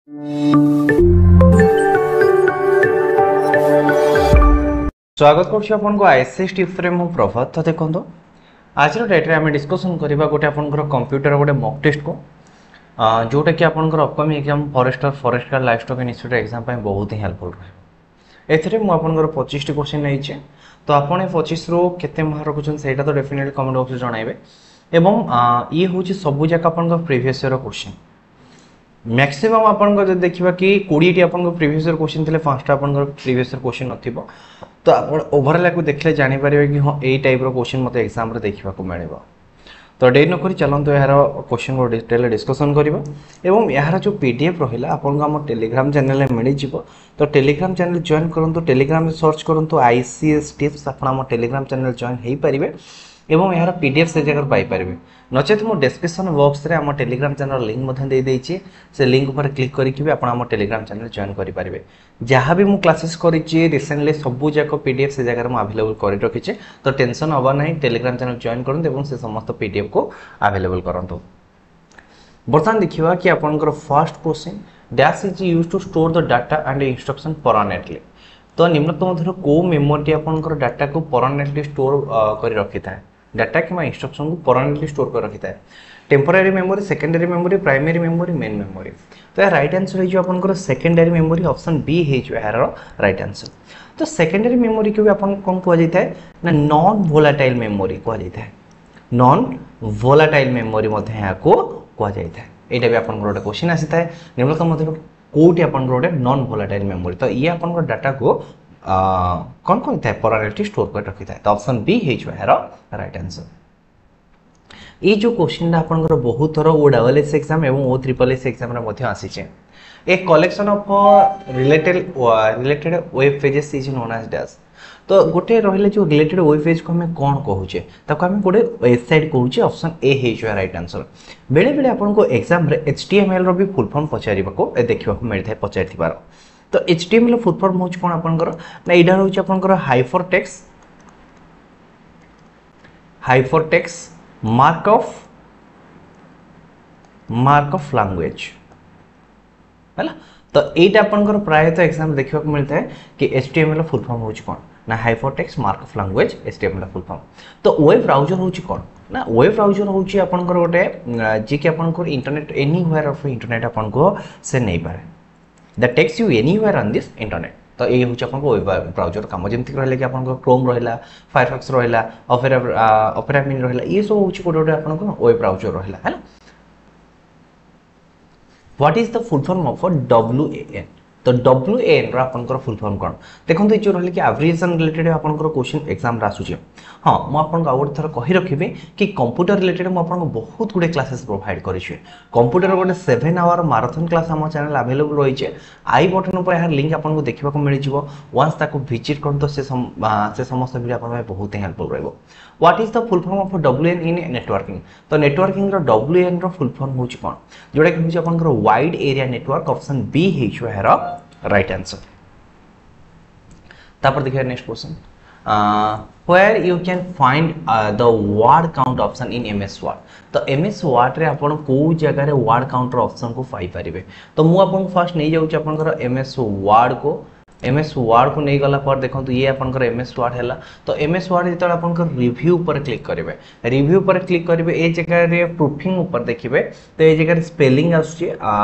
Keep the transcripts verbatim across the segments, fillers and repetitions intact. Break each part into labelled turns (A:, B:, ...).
A: ସ୍ୱାଗତ କରୁଛି ଆପଣଙ୍କୁ ଆଇଏସ୍ଏସ୍ ଟିପ୍ସରେ ମୁଁ ପ୍ରଭାତ ତ ଦେଖନ୍ତୁ ଆଜିର ଡେଟ୍ରେ ଆମେ ଡିସ୍କସନ୍ କରିବା ଗୋଟେ ଆପଣଙ୍କର କମ୍ପ୍ୟୁଟର ଗୋଟେ ମକ୍ ଟେଷ୍ଟକୁ ଯେଉଁଟାକି ଆପଣଙ୍କର upcoming exam forester forest guard life stock institute exam ପାଇଁ ବହୁତ ହିଁ ହେଲ୍ପଫୁଲ୍ ରହିବ ଏଥିରେ ମୁଁ ଆପଣଙ୍କର ପଚିଶଟି କ୍ୱେଶ୍ଚିନ୍ ନେଇଛି ତ ଆପଣ ଏ ପଚିଶରୁ କେତେ ମାର୍କ ରଖୁଛନ୍ତି ସେଇଟା ତ ଡେଫିନେଟଲି କମେଣ୍ଟ ବକ୍ସରେ ଜଣାଇବେ ଏବଂ ଇଏ ହେଉଛି ସବୁ ଯାକ ଆପଣଙ୍କ ପ୍ରିଭିୟସ୍ ଇୟର କ୍ୱେଶ୍ଚିନ୍ ମ୍ୟାକ୍ସିମମ୍ ଆପଣଙ୍କ ଯଦି ଦେଖିବା କି କୋଡ଼ିଏଟି ଆପଣଙ୍କ ପ୍ରିଭିୟସ୍ ଇୟର କ୍ୱେଶ୍ଚିନ୍ ଥିଲେ ପାଞ୍ଚଟା ଆପଣଙ୍କର ପ୍ରିଭିୟସ୍ ଇୟର କ୍ୱେଶ୍ଚିନ୍ ନଥିବ ତ ଆପଣ ଓଭରଅଲ୍ ୟାକୁ ଦେଖିଲେ ଜାଣିପାରିବେ କି ହଁ ଏଇ ଟାଇପ୍ର କ୍ୱେଶ୍ଚିନ୍ ମୋତେ ଏକ୍ଜାମ୍ରେ ଦେଖିବାକୁ ମିଳିବ ତ ଡେରି ନକରି ଚାଲନ୍ତୁ ଏହାର କ୍ୱେଶ୍ଚିନ୍କୁ ଡିଟେଲ୍ ଡିସ୍କସନ୍ କରିବା ଏବଂ ଏହାର ଯେଉଁ ପି ଡି ଏଫ୍ ରହିଲା ଆପଣଙ୍କୁ ଆମ ଟେଲିଗ୍ରାମ ଚ୍ୟାନେଲରେ ମିଳିଯିବ ତ ଟେଲିଗ୍ରାମ ଚ୍ୟାନେଲ୍ ଜଏନ୍ କରନ୍ତୁ ଟେଲିଗ୍ରାମରେ ସର୍ଚ୍ଚ କରନ୍ତୁ I C S tips ଆପଣ ଆମ ଟେଲିଗ୍ରାମ ଚ୍ୟାନେଲ୍ ଜଏନ୍ ହୋଇପାରିବେ ଏବଂ ଏହାର ପି ଡି ଏଫ୍ ସେ ଜାଗାରୁ ପାଇପାରିବେ ନଚେତ୍ ମୁଁ ଡେସ୍କ୍ରିପସନ୍ ବକ୍ସରେ ଆମ ଟେଲିଗ୍ରାମ ଚ୍ୟାନେଲ୍ ଲିଙ୍କ୍ ମଧ୍ୟ ଦେଇଦେଇଛି ସେ ଲିଙ୍କ୍ ଉପରେ କ୍ଲିକ୍ କରିକି ବି ଆପଣ ଆମ ଟେଲିଗ୍ରାମ ଚ୍ୟାନେଲ୍ ଜଏନ୍ କରିପାରିବେ ଯାହା ବି ମୁଁ କ୍ଲାସେସ୍ କରିଛି ରିସେଣ୍ଟଲି ସବୁ ଯାକ ପି ଡି ଏଫ୍ ସେ ଜାଗାରେ ମୁଁ ଆଭେଲେବୁଲ୍ କରି ରଖିଛି ତ ଟେନସନ୍ ହେବା ନାହିଁ ଟେଲିଗ୍ରାମ ଚ୍ୟାନେଲ୍ ଜଏନ୍ କରନ୍ତୁ ଏବଂ ସେ ସମସ୍ତ ପି ଡି ଏଫ୍କୁ ଆଭେଲେବୁଲ୍ କରନ୍ତୁ ବର୍ତ୍ତମାନ ଦେଖିବା କି ଆପଣଙ୍କର first question dash is used to store the data and instruction permanently ତ ନିମ୍ନୋକ୍ତ ମଧ୍ୟରୁ କେଉଁ ମେମୋରିଟି ଆପଣଙ୍କର ଡାଟାକୁ ପରମାନେଣ୍ଟଲି ଷ୍ଟୋର୍ କରି ରଖିଥାଏ ଡାଟା କିମ୍ବା ଇନଷ୍ଟ୍ରକ୍ସନକୁ ପରମାନେଣ୍ଟଲି ଷ୍ଟୋର୍ କରି ରଖିଥାଏ temporary memory secondary memory primary memory main memory ତ ଏହା ରାଇଟ୍ ଆନ୍ସର୍ ହେଇଯିବ ଆପଣଙ୍କର ସେକେଣ୍ଡାରୀ ମେମୋରି ଅପସନ୍ ବି ହେଇଯିବ ଏହାର ରାଇଟ୍ ଆନ୍ସର୍ ତ ସେକେଣ୍ଡାରୀ ମେମୋରିକୁ ବି ଆପଣଙ୍କୁ କ'ଣ କୁହାଯାଇଥାଏ ନା ନନ୍ ଭୋଲାଟାଇଲ୍ ମେମୋରି କୁହାଯାଇଥାଏ ନନ୍ ଭୋଲାଟାଇଲ୍ ମେମୋରି ମଧ୍ୟ ଏହାକୁ କୁହାଯାଇଥାଏ ଏଇଟା ବି ଆପଣଙ୍କର ଗୋଟେ କ୍ୱେଶ୍ଚିନ୍ ଆସିଥାଏ ନିମ୍ନୋକ୍ତ ମଧ୍ୟରୁ କେଉଁଟି ଆପଣଙ୍କର ଗୋଟେ ନନ୍ ଭୋଲାଟାଇଲ୍ ମେମୋରି ତ ଇଏ ଆପଣଙ୍କର ଡାଟାକୁ କ'ଣ କରିଥାଏ ପରମାନେଣ୍ଟଲି ଷ୍ଟୋର୍ କରି ରଖିଥାଏ ତ ଅପସନ୍ ବି ହେଇଯିବ ଏହାର ରାଇଟ୍ ଆନ୍ସର୍ ଏଇ ଯେଉଁ କ୍ୱେଶ୍ଚିନ୍ଟା ଆପଣଙ୍କର ବହୁତ ଥର ଓ ଡବଲ୍ ଏସ୍ ଏକ୍ଜାମ୍ ଏବଂ ଓ ତ୍ରିପଲ୍ ଏସ୍ ଏକ୍ଜାମ୍ରେ ମଧ୍ୟ ଆସିছে a collection of related related web pages is known as dash ତ ଗୋଟେ ରହିଲେ ଯେଉଁ ରିଲେଟେଡ୍ ୱେବ୍ ପେଜ୍କୁ ଆମେ କ'ଣ କହୁଛେ ତାକୁ ଆମେ ଗୋଟେ ୱେବସାଇଟ୍ କହୁଛେ ଅପସନ୍ ଏ ହେଇଯିବ ରାଇଟ୍ ଆନ୍ସର୍ ବେଳେବେଳେ ଆପଣଙ୍କୁ ଏକ୍ଜାମ୍ରେ ଏଚ୍ ଟି ଏମ୍ ଏଲ୍ର ବି ଫୁଲ୍ ଫର୍ମ ପଚାରିବାକୁ ଦେଖିବାକୁ ମିଳିଥାଏ ପଚାରିଥିବାର ତ H T M L full form ହେଉଛି କ'ଣ ଆପଣଙ୍କର ନା ଏଇଟା ରହୁଛି ଆପଣଙ୍କର hyper text hyper text mark up mark up language ହେଲା ତ ଏଇଟା ଆପଣଙ୍କର ପ୍ରାୟତଃ ଏକ୍ଜାମ୍ ଦେଖିବାକୁ ମିଳିଥାଏ କି H T M L full form ହେଉଛି କ'ଣ ନା hyper text mark up language H T M L full form ତ ୱେବ୍ ବ୍ରାଉଜର ହେଉଛି କ'ଣ ନା ୱେବ୍ ବ୍ରାଉଜର ହେଉଛି ଆପଣଙ୍କର ଗୋଟେ ଯିଏକି ଆପଣଙ୍କର ଇଣ୍ଟରନେଟ୍ ଏନିହ୍ୱେୟାର ଅଫ୍ ଇଣ୍ଟରନେଟ୍ ଆପଣଙ୍କୁ ସେ ନେଇପାରେ that takes you anywhere on this internet ତ ଏଇ ହେଉଛି ଆପଣଙ୍କ ୱେବ୍ ବ୍ରାଉଜର କାମ ଯେମିତିକି ରହିଲା କି ଆପଣଙ୍କ କ୍ରୋମ୍ ରହିଲା ଫାୟାରଫକ୍ସ ରହିଲା ଅପେରା ଅପେରା ମିନି ରହିଲା ଇଏ ସବୁ ହେଉଛି ଗୋଟେ ଗୋଟେ ଆପଣଙ୍କ ୱେବ୍ ବ୍ରାଉଜର ରହିଲା ହେଲା what is the full form of W A N ତ ଡବ୍ଲ୍ୟୁ ଏ ଏନ୍ର ଆପଣଙ୍କର ଫୁଲ୍ ଫର୍ମ କ'ଣ ଦେଖନ୍ତୁ ଏ ଯେଉଁ ରହିଲା କି ଆବ୍ରିଭିଏସନ୍ ରିଲେଟେଡ୍ ଆପଣଙ୍କର କ୍ୱେଶ୍ଚିନ୍ ଏକ୍ଜାମ୍ରେ ଆସୁଛି ହଁ ମୁଁ ଆପଣଙ୍କୁ ଆଉ ଗୋଟେ ଥର କହି ରଖିବି କି କମ୍ପ୍ୟୁଟର ରିଲେଟେଡ୍ ମୁଁ ଆପଣଙ୍କୁ ବହୁତ ଗୁଡ଼ିଏ କ୍ଲାସେସ୍ ପ୍ରୋଭାଇଡ଼ କରିଛି କମ୍ପ୍ୟୁଟର ଗୋଟେ ସେଭେନ୍ ଆୱାର ମାରାଥନ୍ କ୍ଲାସ୍ ଆମ ଚ୍ୟାନେଲ୍ ଆଭେଲେବୁଲ୍ ରହିଛି I button ଉପରେ ଏହାର ଲିଙ୍କ୍ ଆପଣଙ୍କୁ ଦେଖିବାକୁ ମିଳିଯିବ ୱାନ୍ସ ତାକୁ ଭିଜିଟ୍ କରନ୍ତୁ ସେ ସେ ସମସ୍ତ ଭିଡ଼ିଓ ଆପଣଙ୍କ ପାଇଁ ବହୁତ ହିଁ ହେଲ୍ପଫୁଲ୍ ରହିବ what is the full form of W A N in networking ତ ନେଟୱାର୍କିଂର ଡବ୍ଲ୍ୟୁ ଏନ୍ର ଫୁଲ୍ ଫର୍ମ ହେଉଛି କ'ଣ ଯେଉଁଟାକି ହେଉଛି ଆପଣଙ୍କର wide area network option B ହେଇଯିବ ଏହାର ରାଇଟ୍ ଆନ୍ସର୍ ତାପରେ ଦେଖିବା next question where you can find the word count option in M S Word ତ ଏମ୍ ଏସ୍ ୱାର୍ଡ଼ରେ ଆପଣ କେଉଁ ଜାଗାରେ ୱାର୍ଡ଼ କାଉଣ୍ଟର ଅପସନ୍କୁ ପାଇପାରିବେ ତ ମୁଁ ଆପଣଙ୍କୁ ଫାର୍ଷ୍ଟ ନେଇଯାଉଛି ଆପଣଙ୍କର ଏମ୍ ଏସ୍ ୱାର୍ଡ଼କୁ ଏମ୍ ଏସ୍ ୱାର୍ଡ଼କୁ ନେଇଗଲା ପରେ ଦେଖନ୍ତୁ ଇଏ ଆପଣଙ୍କର ଏମ୍ ଏସ୍ ୱାର୍ଡ଼ ହେଲା ତ ଏମ୍ ଏସ୍ ୱାର୍ଡ଼ ଯେତେବେଳେ ଆପଣଙ୍କର ରିଭ୍ୟୁ ଉପରେ କ୍ଲିକ୍ କରିବେ ରିଭ୍ୟୁ ଉପରେ କ୍ଲିକ୍ କରିବେ ଏ ଜାଗାରେ ପ୍ରୁଫିଂ ଉପରେ ଦେଖିବେ ତ ଏ ଜାଗାରେ ସ୍ପେଲିଂ ଆସୁଛି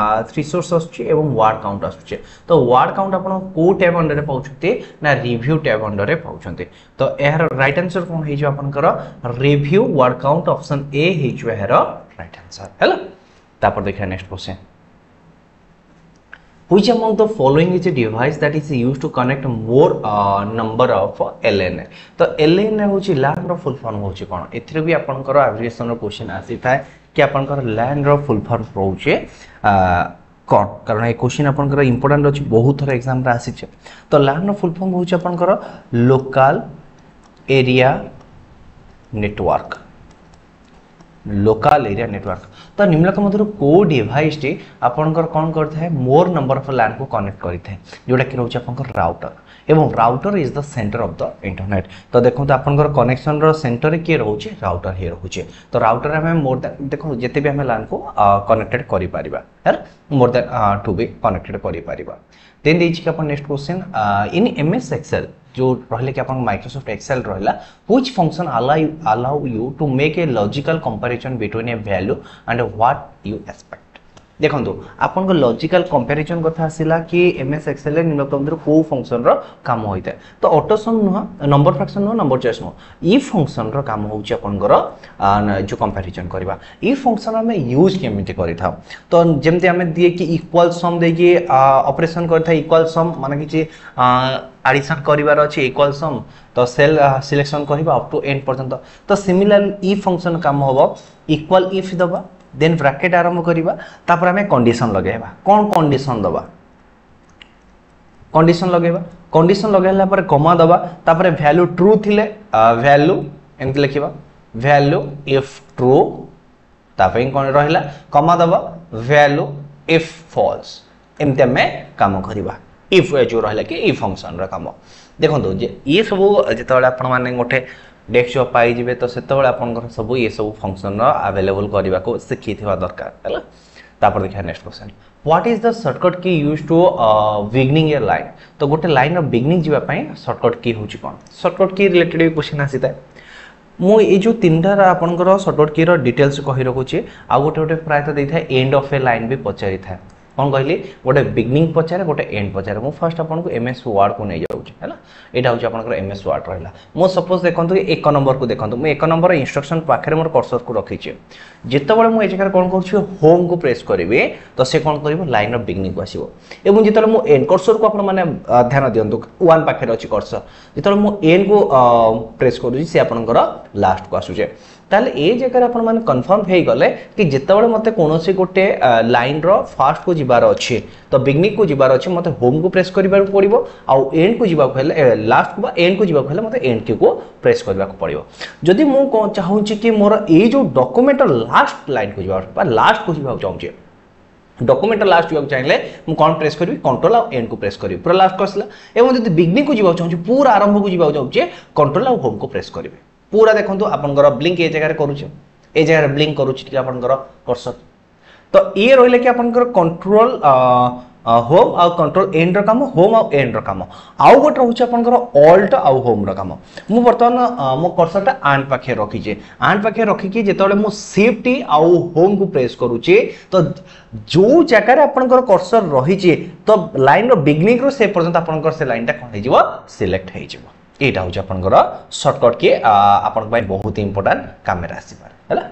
A: ରିସୋର୍ସ ଆସୁଛି ଏବଂ ୱାର୍ଡ଼ କାଉଣ୍ଟ ଆସୁଛି ତ ୱାର୍ଡ଼ କାଉଣ୍ଟ ଆପଣ କେଉଁ ଟ୍ୟାବ୍ ଅଣ୍ଡରରେ ପାଉଛନ୍ତି ନା ରିଭ୍ୟୁ ଟ୍ୟାବ୍ ଅଣ୍ଡରରେ ପାଉଛନ୍ତି ତ ଏହାର ରାଇଟ୍ ଆନ୍ସର୍ କ'ଣ ହେଇଯିବ ଆପଣଙ୍କର review word count option A ହେଇଯିବ ଏହାର ରାଇଟ୍ ଆନ୍ସର୍ ହେଲା ତାପରେ ଦେଖିବା next question which among the following is a device that is used to connect more uh, number of L A N ତ L A N ହେଉଛି LAN ର ଫୁଲ୍ form ହେଉଛି କ'ଣ ଏଥିରେ ବି ଆପଣଙ୍କର ଆବ୍ରିଭିଏସନ୍ର କ୍ୱେଶ୍ଚିନ୍ ଆସିଥାଏ କି ଆପଣଙ୍କର LAN ର ଫୁଲ୍ ଫର୍ମ ରହୁଛି କ'ଣ କାରଣ ଏ କ୍ୱେଶ୍ଚିନ୍ ଆପଣଙ୍କର ଇମ୍ପୋର୍ଟାଣ୍ଟ ଅଛି ବହୁତ ଥର ଏକ୍ଜାମ୍ରେ ଆସିছে ତ LAN ର ଫୁଲ୍ ଫର୍ମ ହେଉଛି ଆପଣଙ୍କର local area network local area network. ତ ନିମ୍ନଲିଖିତ ମଧ୍ୟରୁ କେଉଁ ଡିଭାଇସଟି ଆପଣଙ୍କର କ'ଣ କରିଥାଏ? ମୋର୍ ନମ୍ବର ଅଫ୍ ଲ୍ୟାନ୍କୁ କନେକ୍ଟ କରିଥାଏ, ଯେଉଁଟାକି ରହୁଛି ଆପଣଙ୍କର ରାଉଟର, ଏବଂ router is the center of the internet। ତ ଦେଖନ୍ତୁ, ଆପଣଙ୍କର କନେକ୍ସନର ସେଣ୍ଟରରେ କିଏ ରହୁଛି? ରାଉଟର ହିଁ ରହୁଛି। ତ ରାଉଟର ଆମେ ମୋର୍ ଦ୍ୟାନ୍, ଦେଖନ୍ତୁ, ଯେତେ ବି ଆମେ ଲ୍ୟାନ୍କୁ କନେକ୍ଟେଡ୍ କରିପାରିବା, ହେଲା, ମୋର୍ ଦ୍ୟାନ୍ ଟୁ ବି କନେକ୍ଟେଡ୍ କରିପାରିବା। ଦେନ୍ ଦେଇଛି କି ଆପଣ next question, in M S Excel ଯେଉଁ ରହିଲା କି ଆପଣଙ୍କ ମାଇକ୍ରୋସଫ୍ଟ ଏକ୍ସେଲ୍ ରହିଲା, which function allow you, allow you to make a logical comparison between a value and what you expect? ଦେଖନ୍ତୁ, ଆପଣଙ୍କ ଲଜିକାଲ କମ୍ପାରିଜନ୍ କଥା ଆସିଲା କି ଏମ୍ ଏସ୍ ଏକ୍ସେଲ୍ରେ ନିମ୍ନଲିଖିତ ମଧ୍ୟରୁ କେଉଁ ଫଙ୍କସନ୍ର କାମ ହୋଇଥାଏ? ତ ଅଟୋସମ୍ ନୁହଁ, ନମ୍ବର ଫ୍ରାକ୍ସନ୍ ନୁହଁ, ନମ୍ବର ଚଏସ୍ ନୁହଁ। ଇ ଫଙ୍କସନ୍ର କାମ ହେଉଛି ଆପଣଙ୍କର ଯେଉଁ କମ୍ପାରିଜନ୍ କରିବା। ଇ ଫଙ୍କସନ୍ ଆମେ ୟୁଜ୍ କେମିତି କରିଥାଉ? ତ ଯେମିତି ଆମେ ଦିଏ କି ଇକ୍ୱାଲ୍ ସମ୍ ଦେଇକି ଅପରେସନ୍ କରିଥାଏ, ଇକ୍ୱାଲ୍ ସମ୍ ମାନେ କିଛି ଆଡ଼ିସନ୍ କରିବାର ଅଛି, ଇକ୍ୱାଲ୍ ସମ୍, ତ ସେଲ୍ ସିଲେକ୍ସନ୍ କରିବା ଅପ୍ ଟୁ ଏଣ୍ଡ ପର୍ଯ୍ୟନ୍ତ। ତ ସିମିଲାର ଇ ଫଙ୍କସନ୍ କାମ ହେବ ଇକ୍ୱାଲ୍ if ଦେବା, ଦେନ୍ ବ୍ରାକେଟ୍ ଆରମ୍ଭ କରିବା, ତାପରେ ଆମେ କଣ୍ଡିସନ୍ ଲଗାଇବା। କ'ଣ କଣ୍ଡିସନ୍ ଦେବା? କଣ୍ଡିସନ୍ ଲଗାଇବା। କଣ୍ଡିସନ୍ ଲଗାଇଲା ପରେ କମା ଦେବା, ତାପରେ ଭ୍ୟାଲୁ ଟ୍ରୁ ଥିଲେ ଭ୍ୟାଲୁ ଏମିତି ଲେଖିବା, ଭ୍ୟାଲୁ if true, ତା ପାଇଁ କ'ଣ ରହିଲା, କମା ଦେବା, ଭ୍ୟାଲୁ if falls, ଏମିତି ଆମେ କାମ କରିବା। If ଯେଉଁ ରହିଲା କି ଇ ଫଙ୍କସନ୍ର କାମ। ଦେଖନ୍ତୁ ଯେ ଇଏ ସବୁ ଯେତେବେଳେ ଆପଣମାନେ ଗୋଟେ ଡେସ୍କ ଜବ୍ ପାଇଯିବେ, ତ ସେତେବେଳେ ଆପଣଙ୍କର ସବୁ ଏ ସବୁ ଫଙ୍କସନ୍ର ଆଭେଲେବଲ୍ କରିବାକୁ ଶିଖିଥିବା ଦରକାର, ହେଲା। ତାପରେ ଦେଖିବା next question, what is the shortcut key use to beginning a line? ତ ଗୋଟେ ଲାଇନ୍ର ବିଗିନିଂ ଯିବା ପାଇଁ ସର୍ଟକଟ୍ କି ହେଉଛି କ'ଣ? ସର୍ଟକଟ୍ କି ରିଲେଟେଡ୍ ବି କ୍ୱେଶ୍ଚନ୍ ଆସିଥାଏ। ମୁଁ ଏଇ ଯେଉଁ ତିନିଟାର ଆପଣଙ୍କର ସର୍ଟକଟ୍ କିର ଡିଟେଲ୍ସ କହି ରଖୁଛି। ଆଉ ଗୋଟେ ଗୋଟେ ପ୍ରାୟତଃ ଦେଇଥାଏ, ଏଣ୍ଡ ଅଫ୍ ଏ ଲାଇନ୍ ବି ପଚାରିଥାଏ। କ'ଣ କହିଲି? ଗୋଟେ ବିଗିନିଂ ପଚାରେ, ଗୋଟେ ଏଣ୍ଡ ପଚାରେ। ମୁଁ ଫାର୍ଷ୍ଟ ଆପଣଙ୍କୁ ଏମ୍ ଏସ୍ ୱାର୍ଡ଼କୁ ନେଇଯାଉଛି, ହେଲା। ଏଇଟା ହେଉଛି ଆପଣଙ୍କର ଏମ୍ ଏସ୍ ୱାର୍ଡ଼ ରହିଲା। ମୁଁ ସପୋଜ୍ ଦେଖନ୍ତୁ, ଏକ ନମ୍ବରକୁ ଦେଖନ୍ତୁ, ମୁଁ ଏକ ନମ୍ବର ଇନଷ୍ଟ୍ରକ୍ସନ୍ ପାଖରେ ମୋର କର୍ସରକୁ ରଖିଛି। ଯେତେବେଳେ ମୁଁ ଏ ଜାଗାରେ କ'ଣ କରୁଛି, ହୋମ୍କୁ ପ୍ରେସ୍ କରିବି, ତ ସେ କ'ଣ କରିବ? ଲାଇନ୍ର ବିଗିନିଂକୁ ଆସିବ। ଏବଂ ଯେତେବେଳେ ମୁଁ ଏଣ୍ଡ କର୍ସରକୁ, ଆପଣମାନେ ଧ୍ୟାନ ଦିଅନ୍ତୁ, ୱାନ୍ ପାଖରେ ଅଛି କର୍ସର, ଯେତେବେଳେ ମୁଁ ଏଣ୍ଡକୁ ପ୍ରେସ୍ କରୁଛି, ସେ ଆପଣଙ୍କର ଲାଷ୍ଟକୁ ଆସୁଛି। ତାହେଲେ ଏ ଜାଗାରେ ଆପଣମାନେ କନଫର୍ମ ହେଇଗଲେ କି ଯେତେବେଳେ ମୋତେ କୌଣସି ଗୋଟେ ଲାଇନ୍ର ଫାର୍ଷ୍ଟକୁ ଯିବାର ଅଛି, ତ ବିଗିନିଂକୁ ଯିବାର ଅଛି, ମୋତେ ହୋମ୍କୁ ପ୍ରେସ୍ କରିବାକୁ ପଡ଼ିବ, ଆଉ ଏଣ୍ଡକୁ ଯିବାକୁ ହେଲେ, ଲାଷ୍ଟକୁ ବା ଏଣ୍ଡକୁ ଯିବାକୁ ହେଲେ ମୋତେ ଏଣ୍ଡ କିକୁ ପ୍ରେସ୍ କରିବାକୁ ପଡ଼ିବ। ଯଦି ମୁଁ କ'ଣ ଚାହୁଁଛି କି ମୋର ଏଇ ଯେଉଁ ଡକୁମେଣ୍ଟର ଲାଷ୍ଟ ଲାଇନ୍କୁ ଯିବା ବା ଲାଷ୍ଟକୁ ଯିବାକୁ ଚାହୁଁଛି, ଡକୁମେଣ୍ଟର ଲାଷ୍ଟ ଯିବାକୁ ଚାହିଁଲେ ମୁଁ କ'ଣ ପ୍ରେସ୍ କରିବି? କଣ୍ଟ୍ରୋଲ ଆଉ ଏଣ୍ଡକୁ ପ୍ରେସ୍ କରିବି, ପୁରା ଲାଷ୍ଟକୁ ଆସିଲା। ଏବଂ ଯଦି ବିଗିନିଂକୁ ଯିବାକୁ ଚାହୁଁଛି, ପୁରା ଆରମ୍ଭକୁ ଯିବାକୁ ଚାହୁଁଛି, କଣ୍ଟ୍ରୋଲ ଆଉ ହୋମ୍କୁ ପ୍ରେସ୍ କରିବି। ପୁରା ଦେଖନ୍ତୁ, ଆପଣଙ୍କର ବ୍ଲିଙ୍କ ଏ ଜାଗାରେ କରୁଛି, ଏ ଜାଗାରେ ବ୍ଲିଙ୍କ କରୁଛି ଟିକେ ଆପଣଙ୍କର କର୍ସର। ତ ଇଏ ରହିଲା କି ଆପଣଙ୍କର କଣ୍ଟ୍ରୋଲ ହୋମ୍ ଆଉ କଣ୍ଟ୍ରୋଲ ଏଣ୍ଡର କାମ, ହୋମ୍ ଆଉ ଏଣ୍ଡର କାମ। ଆଉ ଗୋଟେ ରହୁଛି ଆପଣଙ୍କର ଅଲ୍ଟ ଆଉ ହୋମ୍ର କାମ। ମୁଁ ବର୍ତ୍ତମାନ ମୋ କର୍ସରଟା ଆଣ୍ଡ ପାଖରେ ରଖିଛି। ଆଣ୍ଡ ପାଖରେ ରଖିକି ଯେତେବେଳେ ମୁଁ ସିଫ୍ଟ ଆଉ ହୋମ୍କୁ ପ୍ରେସ୍ କରୁଛି, ତ ଯେଉଁ ଜାଗାରେ ଆପଣଙ୍କର କର୍ସର ରହିଛି, ତ ଲାଇନ୍ର ବିଗିନିଂରୁ ସେ ପର୍ଯ୍ୟନ୍ତ ଆପଣଙ୍କର ସେ ଲାଇନ୍ଟା କ'ଣ ହେଇଯିବ? ସିଲେକ୍ଟ ହେଇଯିବ। ଏଇଟା ହେଉଛି ଆପଣଙ୍କର ସର୍ଟକଟ୍ କି, ଆପଣଙ୍କ ପାଇଁ ବହୁତ ଇମ୍ପୋର୍ଟାଣ୍ଟ କାମରେ ଆସିପାରେ, ହେଲା।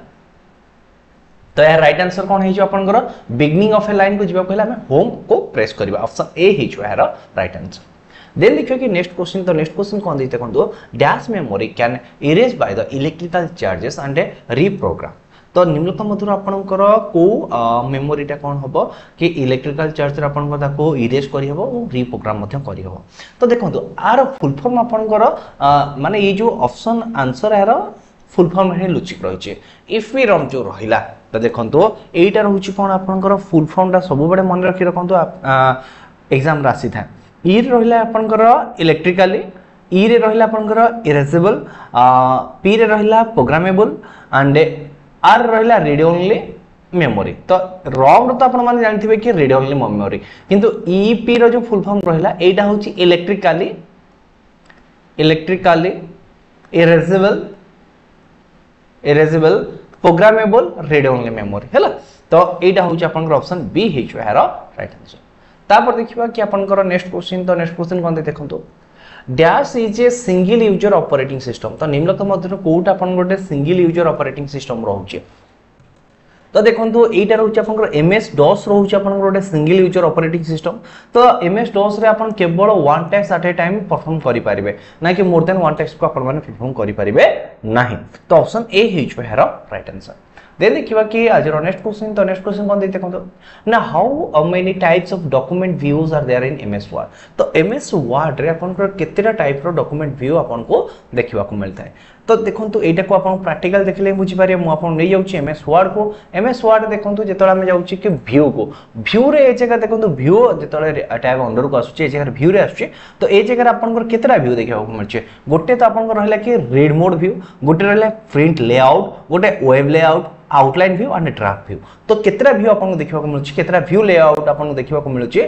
A: ତ ଏହାର ରାଇଟ୍ ଆନ୍ସର କ'ଣ ହେଇଯିବ ଆପଣଙ୍କର? ବିଗିନିଂ ଅଫ୍ ଏ ଲାଇନ୍କୁ ଯିବାକୁ ହେଲେ ଆମେ ହୋମ୍କୁ ପ୍ରେସ୍ କରିବା, ଅପସନ୍ ଏ ହେଇଯିବ ଏହାର ରାଇଟ୍ ଆନ୍ସର। ଦେନ୍ ଦେଖିବା କି ନେକ୍ସଟ କ୍ୱେଶ୍ଚିନ୍। ତ ନେକ୍ସଟ କ୍ୱେଶ୍ଚିନ୍ କ'ଣ ଦେଇଛି ଦେଖନ୍ତୁ, dash memory can erase by the electrical charges and reprogram। ତ ନିମ୍ନଲିଖିତ ମଧ୍ୟରୁ ଆପଣଙ୍କର କେଉଁ ମେମୋରିଟା କ'ଣ ହେବ କି ଇଲେକ୍ଟ୍ରିକାଲ ଚାର୍ଜରେ ଆପଣଙ୍କର ତାକୁ ଇରେଜ୍ କରିହେବ ଓ ରିପ୍ରୋଗ୍ରାମ ମଧ୍ୟ କରିହେବ? ତ ଦେଖନ୍ତୁ, ଆର ଫୁଲ୍ ଫର୍ମ ଆପଣଙ୍କର, ମାନେ ଏଇ ଯେଉଁ ଅପସନ୍ ଆନ୍ସର, ଏହାର ଫୁଲ୍ ଫର୍ମ ହିଁ ଲୁଚିକି ରହିଛି, ଇପିରମ୍ ଯେଉଁ ରହିଲା। ତ ଦେଖନ୍ତୁ, ଏଇଟା ରହୁଛି କ'ଣ ଆପଣଙ୍କର ଫୁଲ୍ ଫର୍ମଟା, ସବୁବେଳେ ମନେ ରଖି ରଖନ୍ତୁ, ଏକ୍ଜାମ୍ରେ ଆସିଥାଏ। ଇରେ ରହିଲା ଆପଣଙ୍କର ଇଲେକ୍ଟ୍ରିକାଲି, ଇରେ ରହିଲା ଆପଣଙ୍କର ଇରେଜେବଲ୍, ପିରେ ରହିଲା ପ୍ରୋଗ୍ରାମେବଲ୍ ଆଣ୍ଡ ଆର୍ ରହିଲା ରିଡ୍ ଓନ୍ଲି ମେମୋରି। ତ ରମ୍ର ତ ଆପଣମାନେ ଜାଣିଥିବେ କି ରିଡ୍ ଓନ୍ଲି ମେମୋରି, କିନ୍ତୁ ଇପି ର ଯେଉଁ ଫୁଲ୍ ଫର୍ମ ରହିଲା, ଏଇଟା ହେଉଛି electrically electrically erasable erasable programmable read only memory, ହେଲା। ତ ଏଇଟା ହେଉଛି ଆପଣଙ୍କର ଅପସନ୍ ବି ହେଇଯିବ ଏହାର ରାଇଟ୍ ଆନ୍ସର। ତାପରେ ଦେଖିବା କି ଆପଣଙ୍କର ନେକ୍ସଟ କ୍ୱେଶ୍ଚିନ୍। ତ ନେକ୍ସଟ କ୍ୱେଶ୍ଚିନ୍ କ'ଣ ଦେଖନ୍ତୁ, dash is a single user operating system। ତ ନିମ୍ନଲିଖିତ ମଧ୍ୟରୁ କେଉଁଟା ଆପଣଙ୍କର ଗୋଟେ ସିଙ୍ଗଲ ୟୁଜର ଅପରେଟିଂ ସିଷ୍ଟମ ରହୁଛି? ତ ଦେଖନ୍ତୁ, ଏଇଟା ରହୁଛି ଆପଣଙ୍କର ଏମ୍ ଏସ୍ ଡସ୍ ରହୁଛି ଆପଣଙ୍କର ଗୋଟେ ସିଙ୍ଗଲ ୟୁଜର ଅପରେଟିଂ ସିଷ୍ଟମ। ତ ଏମ୍ ଏସ୍ ଡସ୍ରେ ଆପଣ କେବଳ one task at a time perform କରିପାରିବେ ନା କି ମୋର୍ ଦେନ୍ ୱାନ୍ ଟାସ୍କକୁ ଆପଣମାନେ ପରଫର୍ମ କରିପାରିବେ ନାହିଁ। ତ ଅପସନ୍ ଏ ହେଇଯିବ ଏହାର ରାଇଟ୍ ଆନ୍ସର। ଦେନ୍ ଦେଖିବା କି ଆଜିର ନେକ୍ସଟ କ୍ୱେଶ୍ଚିନ୍। ତ ନେକ୍ସଟ କ୍ୱେଶ୍ଚିନ୍ କ'ଣ ଦେଇ ଦେଖନ୍ତୁ ନା, how many types of document views are there in M S Word? ତ ଏମ୍ ଏସ୍ ୱାର୍ଡରେ ଆପଣଙ୍କର କେତେଟା ଟାଇପ୍ର ଡକ୍ୟୁମେଣ୍ଟ ଭ୍ୟୁ ଆପଣଙ୍କୁ ଦେଖିବାକୁ ମିଳିଥାଏ? ତ ଦେଖନ୍ତୁ ଏଇଟାକୁ ଆପଣ ପ୍ରାକ୍ଟିକାଲ ଦେଖିଲେ ହିଁ ବୁଝିପାରିବେ ମୁଁ ଆପଣଙ୍କୁ ନେଇଯାଉଛି ଏମ୍ ଏସ୍ ୱାର୍ଡ଼କୁ ଏମ୍ ଏସ୍ ୱାର୍ଡ଼ ଦେଖନ୍ତୁ ଯେତେବେଳେ ଆମେ ଯାଉଛି କି ଭ୍ୟୁକୁ ଭ୍ୟୁରେ ଏ ଜାଗା ଦେଖନ୍ତୁ ଭ୍ୟୁ ଯେତେବେଳେ ଟ୍ୟାବ୍ ଅଣ୍ଡରକୁ ଆସୁଛି ଏ ଜାଗାରେ ଭ୍ୟୁରେ ଆସୁଛି ତ ଏ ଜାଗାରେ ଆପଣଙ୍କର କେତେଟା ଭ୍ୟୁ ଦେଖିବାକୁ ମିଳୁଛି ଗୋଟେ ତ ଆପଣଙ୍କର ରହିଲା କି ରିଡ୍ ମୋଡ୍ ଭ୍ୟୁ ଗୋଟେ ରହିଲା ପ୍ରିଣ୍ଟ ଲେଆଉଟ୍ ଗୋଟେ web layout outline view and draft view ତ କେତେଟା ଭ୍ୟୁ ଆପଣଙ୍କୁ ଦେଖିବାକୁ ମିଳୁଛି କେତେଟା ଭ୍ୟୁ ଲେଆଉଟ୍ ଆପଣଙ୍କୁ ଦେଖିବାକୁ ମିଳୁଛି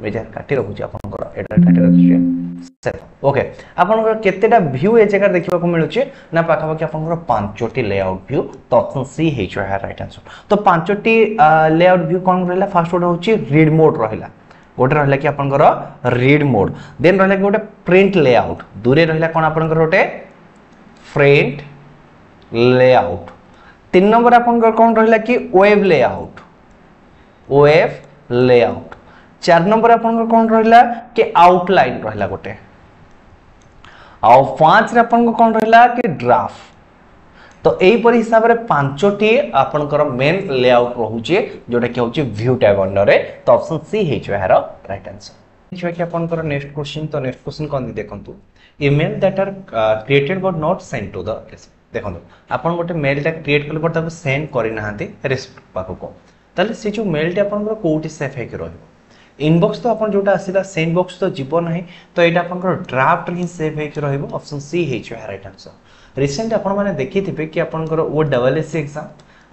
A: ଏ ଜାଗାରେ କାଟି ରଖୁଛି ଆପଣଙ୍କର ଏଇଟା କାଟି ରଖୁଛି ଓକେ ଆପଣଙ୍କର କେତେଟା ଭ୍ୟୁ ଏ ଜାଗାରେ ଦେଖିବାକୁ ମିଳୁଛି ନା ପାଖାପାଖି ଆପଣଙ୍କର ପାଞ୍ଚଟି ଲେଆଉଟ୍ ଭ୍ୟୁ ତ ଅପସନ୍ ସି ହେଇଯିବ ଏହାର ରାଇଟ୍ ଆନ୍ସର ତ ପାଞ୍ଚଟି ଲେଆଉଟ୍ ଭ୍ୟୁ କ'ଣ ରହିଲା ଫାର୍ଷ୍ଟ ଗୋଟେ ହେଉଛି ରିଡ୍ ମୋଡ୍ ରହିଲା ଗୋଟେ ରହିଲା କି ଆପଣଙ୍କର ରିଡ୍ ମୋଡ୍ ଦେନ୍ ରହିଲା କି ଗୋଟେ ପ୍ରିଣ୍ଟ ଲେଆଉଟ୍ ଦୂରେ ରହିଲା କ'ଣ ଆପଣଙ୍କର ଗୋଟେ ପ୍ରିଣ୍ଟ ଲେଆଉଟ୍ ତିନି ନମ୍ବର ଆପଣଙ୍କର କ'ଣ ରହିଲା କି ୱେବ୍ ଲେଆଉଟ୍ ୱେବ୍ ଲେଆଉଟ୍ ଚାରି ନମ୍ବର ଆପଣଙ୍କର କ'ଣ ରହିଲା କି ଆଉଟଲାଇନ୍ ରହିଲା ଗୋଟେ ଆଉ ପାଞ୍ଚରେ ଆପଣଙ୍କର କ'ଣ ରହିଲା କି ଡ୍ରାଫ୍ଟ ତ ଏଇପରି ହିସାବରେ ପାଞ୍ଚଟି ଆପଣଙ୍କର ମେନ୍ ଲେଆଉଟ୍ ରହୁଛି ଯୋଉଟା କି ହେଉଛି ଭ୍ୟୁ ଟ୍ୟାବ୍ ଅଣ୍ଡରରେ ତ ଅପସନ୍ ସି ହେଇଯିବ ଏହାର ରାଇଟ୍ ଆନ୍ସର ଦେଖିବା କି ଆପଣଙ୍କର ନେକ୍ସଟ କ୍ୱେଶ୍ଚିନ୍ ତ ନେକ୍ସଟ କ୍ୱେଶ୍ଚିନ୍ କ'ଣ ଦେଖନ୍ତୁ email that are created but not send to the ଦେଖନ୍ତୁ ଆପଣ ଗୋଟେ ମେଲ୍ଟା କ୍ରିଏଟ୍ କଲେ ବଟ୍ ତାକୁ ସେଣ୍ଡ କରିନାହାନ୍ତି ରେସିପିଏଣ୍ଟ ପାଖକୁ ତାହେଲେ ସେ ଯେଉଁ ମେଲ୍ଟି ଆପଣଙ୍କର କେଉଁଠି ସେଭ୍ ହେଇକି ରହିବ ଇନବକ୍ସ ତ ଆପଣ ଯେଉଁଟା ଆସିଲା ସେଣ୍ଡ ବକ୍ସ ତ ଯିବ ନାହିଁ ତ ଏଇଟା ଆପଣଙ୍କର ଡ୍ରାଫ୍ଟରେ ହିଁ ସେଭ୍ ହେଇକି ରହିବ ଅପସନ୍ ସି ହେଇଯିବ ଏହା ରାଇଟ୍ ଆନ୍ସର ରିସେଣ୍ଟ ଆପଣମାନେ ଦେଖିଥିବେ କି ଆପଣଙ୍କର ଓ ଡବଲ୍ ଏସ୍ ସି ଏକ୍ଜାମ୍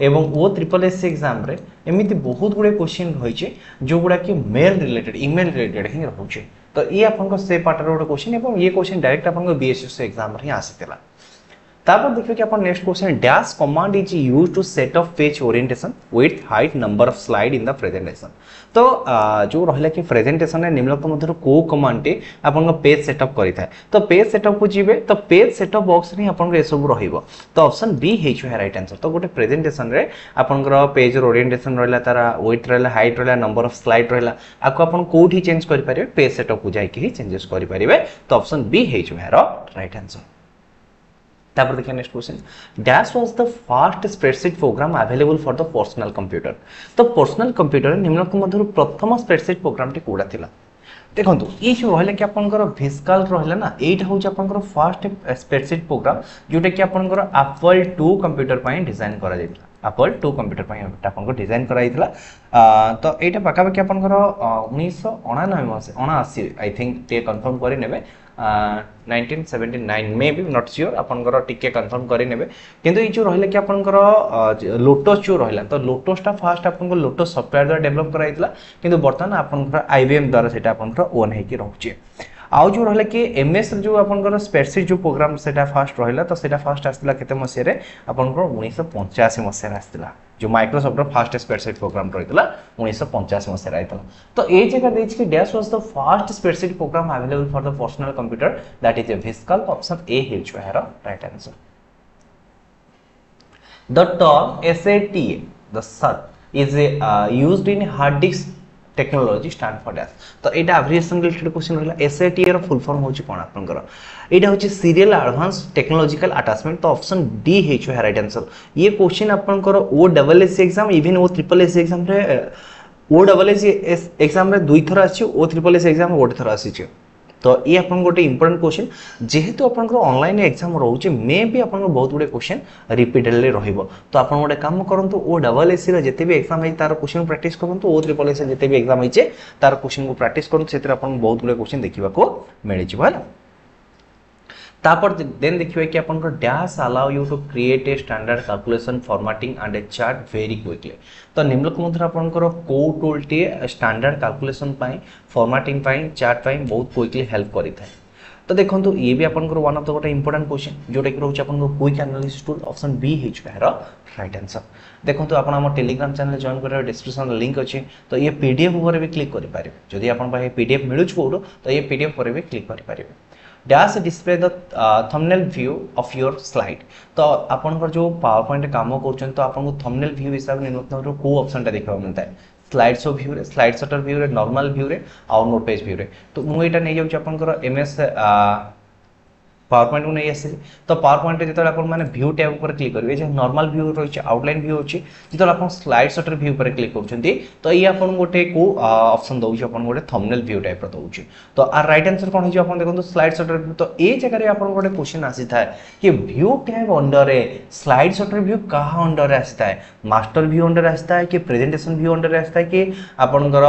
A: ଏବଂ ଓ ତ୍ରିପଲ୍ ଏସ୍ ସି ଏକ୍ଜାମ୍ରେ ଏମିତି ବହୁତ ଗୁଡ଼ିଏ କ୍ୱେଶ୍ଚିନ୍ ରହିଛି ଯେଉଁଗୁଡ଼ା କି ମେଲ୍ ରିଲେଟେଡ୍ ଇମେଲ୍ ରିଲେଟେଡ୍ ହିଁ ରହୁଛି ତ ଇଏ ଆପଣଙ୍କ ସେ ପାର୍ଟର ଗୋଟେ କ୍ୱେଶ୍ଚିନ୍ ଏବଂ ଇଏ କ୍ୱେଶ୍ଚିନ୍ ଡାଇରେକ୍ଟ ଆପଣଙ୍କ ବିଏସ୍ଏସ୍ ଏକ୍ଜାମ୍ରେ ହିଁ ଆସିଥିଲା ତାପରେ ଦେଖିବେ କି ଆପଣ next question dash command is use to set up page orientation width height number of slide in the presentation ତ ଯେଉଁ ରହିଲା କି ପ୍ରେଜେଣ୍ଟେସନରେ ନିମ୍ନଲିଖିତ ମଧ୍ୟରୁ କେଉଁ କମାଣ୍ଡଟି ଆପଣଙ୍କ ପେଜ୍ ସେଟଅପ୍ କରିଥାଏ ତ ପେଜ୍ ସେଟଅପ୍କୁ ଯିବେ ତ ପେଜ୍ ସେଟଅପ୍ ବକ୍ସରେ ହିଁ ଆପଣଙ୍କର ଏସବୁ ରହିବ ତ ଅପସନ୍ ବି ହେଇଯିବ ରାଇଟ୍ ଆନ୍ସର ତ ଗୋଟେ ପ୍ରେଜେଣ୍ଟେସନରେ ଆପଣଙ୍କର ପେଜ୍ର ଓରିଏଣ୍ଟେସନ୍ ରହିଲା ତାର ୱିଡ୍ଥ ରହିଲା ହାଇଟ୍ ରହିଲା ନମ୍ବର ଅଫ୍ ସ୍ଲାଇଡ୍ ରହିଲା ଆକୁ ଆପଣ କେଉଁଠି ଚେଞ୍ଜ କରିପାରିବେ ପେଜ୍ ସେଟଅପ୍କୁ ଯାଇକି ହିଁ ଚେଞ୍ଜେସ୍ କରିପାରିବେ ତ ଅପସନ୍ ବି ହେଇଯିବ ଏହାର ରାଇଟ୍ ଆନ୍ସର ତାପରେ ଦେଖିବା next question dash was the first spreadsheet program available for the personal computer ତ ପର୍ସନାଲ କମ୍ପ୍ୟୁଟର ନିମ୍ନଲିଖିତ ମଧ୍ୟରୁ ପ୍ରଥମ ସ୍ପ୍ରେଡସିଟ୍ ପ୍ରୋଗ୍ରାମଟି କେଉଁଟା ଥିଲା ଦେଖନ୍ତୁ ଏଇ ଯେଉଁ ରହିଲା କି ଆପଣଙ୍କର ଭିସ୍କାଲ୍କ ରହିଲା ନା ଏଇଟା ହେଉଛି ଆପଣଙ୍କର ଫାର୍ଷ୍ଟ ସ୍ପ୍ରେଡସିଟ୍ ପ୍ରୋଗ୍ରାମ ଯେଉଁଟାକି ଆପଣଙ୍କର ଆପଲ୍ ଟୁ କମ୍ପ୍ୟୁଟର ପାଇଁ ଡିଜାଇନ୍ କରାଯାଇଥିଲା ଆପଲ୍ ଟୁ କମ୍ପ୍ୟୁଟର ପାଇଁ ଆପଣଙ୍କର ଡିଜାଇନ୍ କରାଯାଇଥିଲା ତ ଏଇଟା ପାଖାପାଖି ଆପଣଙ୍କର ଉଣେଇଶହ ଅଣାନବେ ମସିହା ଅଣାଅଶୀ I think ଟିକେ କନଫର୍ମ କରିନେବେ nineteen seventy nine may be not sure ଆପଣଙ୍କର ଟିକେ କନଫର୍ମ କରିନେବେ କିନ୍ତୁ ଏଇ ଯେଉଁ ରହିଲା କି ଆପଣଙ୍କର ଲୋଟସ୍ ଯେଉଁ ରହିଲା ତ ଲୋଟସ୍ଟା ଫାଷ୍ଟ ଆପଣଙ୍କ ଲୋଟସ୍ ସଫ୍ଟୱେୟାର ଦ୍ୱାରା ଡେଭଲପ୍ କରାଯାଇଥିଲା କିନ୍ତୁ ବର୍ତ୍ତମାନ ଆପଣଙ୍କର I B M ଦ୍ୱାରା ସେଇଟା ଆପଣଙ୍କର ଓନ୍ ହେଇକି ରହୁଛି ଆଉ ଯେଉଁ ରହିଲା କି ଏମ୍ଏସ୍ ଯେଉଁ ଆପଣଙ୍କର ସ୍ପ୍ରେଡସିଟ୍ ଯେଉଁ ପ୍ରୋଗ୍ରାମ ସେଇଟା ଫାଷ୍ଟ ରହିଲା ତ ସେଇଟା ଫାଷ୍ଟ ଆସିଥିଲା କେତେ ମସିହାରେ ଆପଣଙ୍କର ଉଣେଇଶହ ପଞ୍ଚାଅଶୀ ମସିହାରେ ଆସିଥିଲା ଯେଉଁ ମାଇକ୍ରୋସଫ୍ଟର ଫାଷ୍ଟ ସ୍ପ୍ରେଡସିଟ୍ ପ୍ରୋଗ୍ରାମ ରହିଥିଲା ଉଣେଇଶହ ପଞ୍ଚାଅଶୀ ମସିହାରେ ଆସିଥିଲା ତ ଏଇ ଜାଗା ଦେଇଛି କି dash was the first spreadsheet program available for the personal computer that is a VisCalc option A ହେଉଛି ଏହାର right answer The term SATA, the SAT, is uh, used in hard disk technology stand for dash ତ ଏଇଟା ଆବ୍ରିଭିଏସନ୍ related question ରହିଲା SATA ର ଫୁଲ୍ form ହେଉଛି କ'ଣ ଆପଣଙ୍କର ଏଇଟା ହେଉଛି ସିରିଏଲ୍ ଆଡଭାନ୍ସ ଟେକ୍ନୋଲୋଜିକାଲ ଆଟାଚମେଣ୍ଟ ତ ଅପସନ୍ ଡି ହେଇଯିବ ରାଇଟ୍ ଆନ୍ସର ଇଏ କ୍ୱେଶ୍ଚିନ୍ ଆପଣଙ୍କର ଓ double S C exam even ଓ ତ୍ରିପଲ୍ ଏସ୍ ଏକ୍ଜାମ୍ରେ ଓ ଡବଲ୍ ଏସ୍ ଏସ୍ ଏକ୍ଜାମ୍ରେ ଦୁଇଥର ଆସିଛି ଓ ତ୍ରିପଲ୍ ଏସ୍ ଏକ୍ଜାମ୍ ଗୋଟେ ଥର ଆସିଛି ତ ଇଏ ଆପଣଙ୍କ ଗୋଟେ ଇମ୍ପୋର୍ଟାଣ୍ଟ କ୍ୱେଶ୍ଚିନ୍ ଯେହେତୁ ଆପଣଙ୍କର ଅନଲାଇନ୍ ଏକ୍ଜାମ୍ ରହୁଛି ମେ ବି ଆପଣଙ୍କର ବହୁତ ଗୁଡ଼ିଏ କ୍ୱେଶ୍ଚିନ୍ ରିପିଟେଡ଼ଲି ରହିବ ତ ଆପଣ ଗୋଟେ କାମ କରନ୍ତୁ ଓ ଡବଲ୍ ଏସ୍ ସିର ଯେତେ ବି ଏକ୍ଜାମ୍ ହେଇଛି ତାର କ୍ୱେଶ୍ଚିନ୍ ପ୍ରାକ୍ଟିସ୍ କରନ୍ତୁ ଓ ତ୍ରିପଲ୍ ଏସ୍ ଯେତେ ବି ଏକ୍ଜାମ୍ ହେଇଛି ତାର କ୍ୱେଶ୍ଚିନ୍କୁ ପ୍ରାକ୍ଟିସ୍ କରନ୍ତୁ ସେଥିରେ ଆପଣଙ୍କୁ ବହୁତ ଗୁଡ଼ିଏ କ୍ୱେଶ୍ଚିନ୍ ଦେଖିବାକୁ ମିଳିଯିବ ହେଲା ତାପରେ ଦେନ୍ ଦେଖିବେ କି ଆପଣଙ୍କର dash allow you to create a standard calculation formatting and a chart very quickly ତ ନିମ୍ନଲିଖିତ ମଧ୍ୟରେ ଆପଣଙ୍କର କେଉଁ ଟୁଲ୍ଟି ଷ୍ଟାଣ୍ଡାର୍ଡ କାଲକୁଲେସନ୍ ପାଇଁ ଫର୍ମାଟିଂ ପାଇଁ ଚାର୍ଟ ପାଇଁ ବହୁତ କ୍ୱିକଲି ହେଲ୍ପ କରିଥାଏ ତ ଦେଖନ୍ତୁ ଇଏ ବି ଆପଣଙ୍କର ୱାନ୍ ଅଫ୍ the ଗୋଟେ ଇମ୍ପୋର୍ଟାଣ୍ଟ କ୍ୱେଶ୍ଚିନ୍ ଯେଉଁଟାକି ରହୁଛି ଆପଣଙ୍କ quick analysis tool option B ହେଇଯିବ ଏହାର ରାଇଟ୍ ଆନ୍ସର୍ ଦେଖନ୍ତୁ ଆପଣ ଆମ ଟେଲିଗ୍ରାମ ଚ୍ୟାନେଲ୍ ଜଏନ୍ କରିବାର ଡିସ୍କ୍ରିପ୍ସନ୍ରେ ଲିଙ୍କ୍ ଅଛି ତ ଇଏ ପି ଡି ଏଫ୍ ଉପରେ ବି କ୍ଲିକ୍ କରିପାରିବେ ଯଦି ଆପଣଙ୍କ ପାଖେ ପି ଡି ଏଫ୍ ମିଳୁଛି କେଉଁଠୁ ତ ଇଏ ପି ଡି ଏଫ୍ ଉପରେ ବି କ୍ଲିକ୍ କରିପାରିବେ dash display the thumbnail view of your slide ତ ଆପଣଙ୍କର ଯେଉଁ ପାୱାର ପଏଣ୍ଟ କାମ କରୁଛନ୍ତି ତ ଆପଣଙ୍କୁ ଥମ୍ବନେଲ୍ ଭ୍ୟୁ ହିସାବରେ ନିମ୍ନଲିଖିତ କେଉଁ ଅପସନ୍ଟା ଦେଖିବାକୁ ମିଳିଥାଏ ସ୍ଲାଇଡ୍ ଶୋ ଭ୍ୟୁରେ ସ୍ଲାଇଡ୍ ସର୍ଟର ଭ୍ୟୁରେ ନର୍ମାଲ ଭ୍ୟୁରେ ଆଉ ନୋଟ୍ ପେଜ୍ ଭ୍ୟୁରେ ତ ମୁଁ ଏଇଟା ନେଇଯାଉଛି ଆପଣଙ୍କର ଏମ୍ ଏସ୍ ପାୱାର ପଏଣ୍ଟକୁ ନେଇ ଆସିଲି। ତ ପାୱାର ପଏଣ୍ଟରେ ଯେତେବେଳେ ଆପଣମାନେ ଭ୍ୟୁ ଟ୍ୟାବ୍ ଉପରେ କ୍ଲିକ୍ କରିବେ, ଯେ ନର୍ମାଲ ଭ୍ୟୁ ରହିଛି, ଆଉଟଲାଇନ୍ ଭ୍ୟୁ ଅଛି, ଯେତେବେଳେ ଆପଣ ସ୍ଲାଇଡ୍ ସର୍ଟର ଭ୍ୟୁ ଉପରେ କ୍ଲିକ୍ କରୁଛନ୍ତି, ତ ଇଏ ଆପଣଙ୍କୁ ଗୋଟେ କେଉଁ ଅପସନ୍ ଦେଉଛି? ଆପଣଙ୍କୁ ଗୋଟେ ଥମ୍ବନେଲ୍ ଭ୍ୟୁ ଟାଇପ୍ର ଦେଉଛି। ତ ଆର ରାଇଟ୍ ଆନ୍ସର କ'ଣ ହେଇଯିବ? ଆପଣ ଦେଖନ୍ତୁ, ସ୍ଲାଇଡ୍ ସର୍ଟର ଭ୍ୟୁ। ତ ଏ ଜାଗାରେ ଆପଣଙ୍କୁ ଗୋଟେ କ୍ୱେଶ୍ଚନ୍ ଆସିଥାଏ କି ଭ୍ୟୁ ଟ୍ୟାବ୍ ଅଣ୍ଡରରେ ସ୍ଲାଇଡ୍ ସର୍ଟର ଭ୍ୟୁ କାହା ଅଣ୍ଡରରେ ଆସିଥାଏ? ମାଷ୍ଟର ଭ୍ୟୁ ଅଣ୍ଡରରେ ଆସିଥାଏ କି ପ୍ରେଜେଣ୍ଟେସନ୍ ଭ୍ୟୁ ଅଣ୍ଡରରେ ଆସିଥାଏ କି ଆପଣଙ୍କର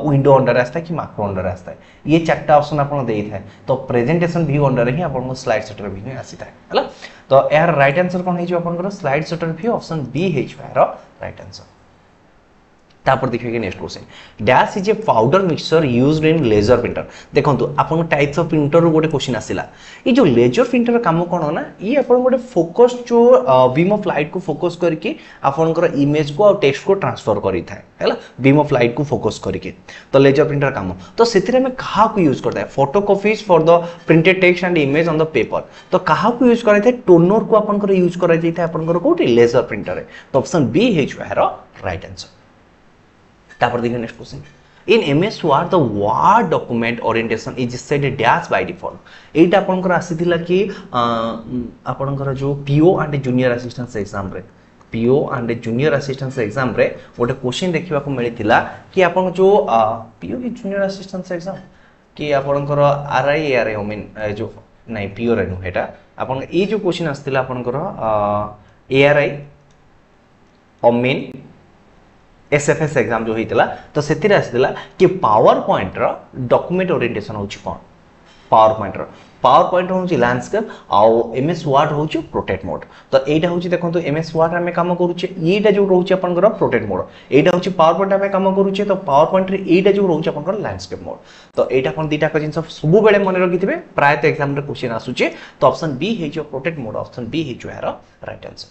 A: ୱିଣ୍ଡୋ ଅଣ୍ଡରରେ ଆସିଥାଏ କି ମାକ୍ରୋ ଅଣ୍ଡରରେ ଆସିଥାଏ? ଇଏ ଚାରିଟା ଅପସନ୍ ଆପଣ ଦେଇଥାଏ। ତ ପ୍ରେଜେଣ୍ଟେସନ୍ ଭ୍ୟୁ ଅଣ୍ଡରରେ ହିଁ ଆପଣଙ୍କୁ ସ୍ଲାଇଡ୍ ସର୍ଟର ଭ୍ୟୁ ଆସିଥାଏ, ହେଲା। ତ ଏହାର ରାଇଟ୍ ଆନ୍ସର କ'ଣ ହେଇଯିବ ଆପଣଙ୍କର? ସ୍ଲାଇଡ୍ ସର୍ଟର ଭ୍ୟୁ, ଅପସନ୍ ବି ହେଇଯିବ ଏହାର ରାଇଟ୍ ଆନ୍ସର। ତାପରେ ଦେଖିବେ କି next question, dash is a powder mixture used in laser printer. ଦେଖନ୍ତୁ, ଆପଣଙ୍କ ଟାଇପ୍ସ ଅଫ୍ ପ୍ରିଣ୍ଟରରୁ ଗୋଟେ କ୍ୱେଶ୍ଚିନ୍ ଆସିଲା। ଏଇ ଯେଉଁ ଲେଜର ପ୍ରିଣ୍ଟର କାମ କ'ଣ ନା ଇଏ ଆପଣଙ୍କୁ ଗୋଟେ ଫୋକସ୍, ଯେଉଁ ବିମ୍ ଅଫ୍ ଲାଇଟ୍କୁ ଫୋକସ୍ କରିକି ଆପଣଙ୍କର ଇମେଜକୁ ଆଉ ଟେକ୍ସଟକୁ ଟ୍ରାନ୍ସଫର କରିଥାଏ, ହେଲା, ବିମ୍ ଅଫ୍ ଲାଇଟ୍କୁ ଫୋକସ୍ କରିକି। ତ ଲେଜର ପ୍ରିଣ୍ଟର କାମ, ତ ସେଥିରେ ଆମେ କାହାକୁ ୟୁଜ୍ କରିଥାଏ? Photocopies for the printed text and image on the paper. ତ କାହାକୁ ୟୁଜ୍ କରାଯାଇଥାଏ? ଟୋନରକୁ ଆପଣଙ୍କର ୟୁଜ୍ କରାଯାଇଥାଏ ଆପଣଙ୍କର କେଉଁଠି? ଲେଜର ପ୍ରିଣ୍ଟରରେ। ତ ଅପସନ୍ ବି ହେଇଯିବ ଏହାର ରାଇଟ୍ ଆନ୍ସର। ତାପରେ ଦେଖିବେ next question, in M S Word the Word document orientation is set dash by default. ଏଇଟା ଆପଣଙ୍କର ଆସିଥିଲା କି ଆପଣଙ୍କର ଯେଉଁ ପିଓ ଆଣ୍ଡ ଜୁନିୟର ଆସିଷ୍ଟାନ୍ସ ଏକ୍ଜାମରେ, ପିଓ ଆଣ୍ଡ ଜୁନିୟର ଆସିଷ୍ଟାନ୍ସ ଏକ୍ଜାମରେ ଗୋଟେ କ୍ୱେଶ୍ଚିନ୍ ଦେଖିବାକୁ ମିଳିଥିଲା କି ଆପଣଙ୍କ ଯେଉଁ ପିଓ କି ଜୁନିୟର ଆସିଷ୍ଟାନ୍ସ ଏକ୍ଜାମ କି ଆପଣଙ୍କର ଆର୍ I, A R I mean ଯେଉଁ, ନାଇଁ, ପିଓରେ ନୁହେଁ ଏଇଟା। ଆପଣଙ୍କ ଏଇ ଯେଉଁ କ୍ୱେଶ୍ଚିନ୍ ଆସିଥିଲା ଆପଣଙ୍କର ଏ ଆର୍ I, Amin, S F S exam ଯେଉଁ ହେଇଥିଲା, ତ ସେଥିରେ ଆସିଥିଲା କି ପାୱାର ପଏଣ୍ଟର ଡକୁମେଣ୍ଟ ଓରିଏଣ୍ଟେସନ୍ ହେଉଛି କ'ଣ? ପାୱାର ପଏଣ୍ଟର ପାୱାର ପଏଣ୍ଟ ହେଉଛି ଲ୍ୟାଣ୍ଡସ୍କେପ୍ ଆଉ ଏମ୍ ଏସ୍ ୱାର୍ଡ ହେଉଛି ପୋର୍ଟ୍ରେଟ୍ ମୋଡ୍। ତ ଏଇଟା ହେଉଛି, ଦେଖନ୍ତୁ, ଏମ୍ ଏସ୍ ୱାର୍ଡ ଆମେ କାମ କରୁଛେ, ଏଇଟା ଯେଉଁ ରହୁଛି ଆପଣଙ୍କର ପୋର୍ଟ୍ରେଟ୍ ମୋଡ୍। ଏଇଟା ହେଉଛି ପାୱାର ପଏଣ୍ଟ ଆମେ କାମ କରୁଛେ, ତ ପାୱାର ପଏଣ୍ଟରେ ଏଇଟା ଯେଉଁ ରହୁଛି ଆପଣଙ୍କର ଲ୍ୟାଣ୍ଡସ୍କେପ୍ ମୋଡ୍। ତ ଏଇଟା ଆପଣ ଦୁଇଟା ଜିନିଷ ସବୁବେଳେ ମନେ ରଖିଥିବେ, ପ୍ରାୟତଃ ଏକ୍ଜାମ୍ରେ କ୍ୱେଶ୍ଚିନ୍ ଆସୁଛି। ତ ଅପସନ୍ ବି ହେଇଯିବ ପୋର୍ଟ୍ରେଟ୍ ମୋଡ୍, ଅପସନ୍ ବି ହେଇଯିବ ଏହାର ରାଇଟ୍ ଆନ୍ସର।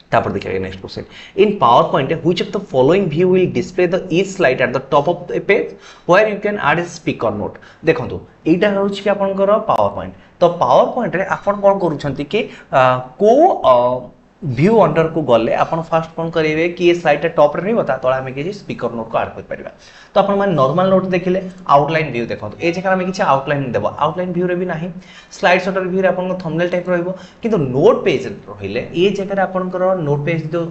A: ତାପରେ ଦେଖିବା next question, in PowerPoint which of the following view will display the each slide at the top of the page where you can add a speaker note? ଦେଖନ୍ତୁ, ଏଇଟା ହେଉଛି କି ଆପଣଙ୍କର power point. ତ power ପଏଣ୍ଟରେ ଆପଣ କ'ଣ କରୁଛନ୍ତି କି କେଉଁ ଭ୍ୟୁ ଅଣ୍ଡରକୁ ଗଲେ ଆପଣ ଫାଷ୍ଟ କ'ଣ କରିବେ କି ଏ ସ୍ଲାଇଡ୍ଟା ଟପ୍ରେ ରହିବ, ତା ତଳେ ଆମେ କିଛି ସ୍ପିକର ନୋଟ୍କୁ ଆଡ଼୍ କରିପାରିବା? ତ ଆପଣମାନେ ନର୍ମାଲ ନୋଟ୍ ଦେଖିଲେ, ଆଉଟଲାଇନ୍ ଭ୍ୟୁ ଦେଖନ୍ତୁ, ଏ ଜାଗାରେ ଆମେ କିଛି ଆଉଟଲାଇନ୍ ଦେବା, ଆଉଟଲାଇନ୍ ଭ୍ୟୁରେ ବି ନାହିଁ। ସ୍ଲାଇଡ୍ ସର୍ଟର ଭ୍ୟୁରେ ଆପଣଙ୍କ ଥମ୍ବନେଲ୍ ଟାଇପ୍ ରହିବ, କିନ୍ତୁ ନୋଟ୍ ପେଜ୍ ରହିଲେ ଏ ଜାଗାରେ ଆପଣଙ୍କର ନୋଟ୍ ପେଜ୍ ଯେଉଁ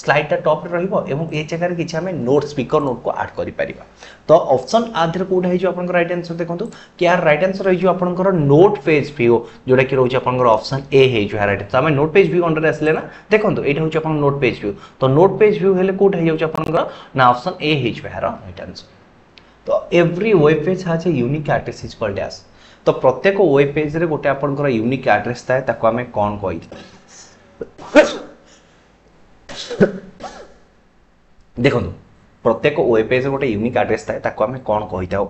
A: ସ୍ଲାଇଡ୍ଟା ଟପ୍ରେ ରହିବ ଏବଂ ଏ ଜାଗାରେ କିଛି ଆମେ ନୋଟ୍, ସ୍ପିକର ନୋଟ୍କୁ ଆଡ଼୍ କରିପାରିବା। ତ ଅପସନ୍ ଆ ଦେହରେ କେଉଁଟା ହେଇଯିବ ଆପଣଙ୍କର ରାଇଟ୍ ଆନ୍ସର? ଦେଖନ୍ତୁ କି ଆର ରାଇଟ୍ ଆନ୍ସର ହେଇଯିବ ଆପଣଙ୍କର ନୋଟ୍ ପେଜ୍ ଭ୍ୟୁ, ଯେଉଁଟାକି ରହୁଛି ଆପଣଙ୍କର ଅପସନ୍ ଏ ହେଇଯିବ ରାଇଟ୍। ତ ଆମେ ନୋଟ୍ ପେଜ୍ ଭ୍ୟୁ ଅଣ୍ଡରରେ ଆସିଲେ ନା, ଦେଖନ୍ତୁ, ଏଇଟା ହେଉଛି ଆପଣଙ୍କ ନୋଟ୍ ପେଜ୍ ଭ୍ୟୁ। ତ ନୋଟ୍ ପେଜ୍ ଭ୍ୟୁ ହେଲେ କେଉଁଟା ହେଇଯାଉଛି ଆପଣଙ୍କର ନା ଅପସନ୍ ଏ ହେଇଯିବ ଏହାର ରାଇଟ୍ ଆନ୍ସର। ତ every web page has a unique address is called dash. ତ ପ୍ରତ୍ୟେକ ୱେବ୍ ପେଜ୍ରେ ଗୋଟେ ଆପଣଙ୍କର ୟୁନିକ୍ ଆଡ୍ରେସ୍ ଥାଏ, ତାକୁ ଆମେ କ'ଣ କହିଥାଉ? ଦେଖନ୍ତୁ, ପ୍ରତ୍ୟେକ ୱେବ୍ ପେଜ୍ରେ ଗୋଟେ ୟୁନିକ୍ ଆଡ୍ରେସ୍ ଥାଏ, ତାକୁ ଆମେ କ'ଣ କହିଥାଉ?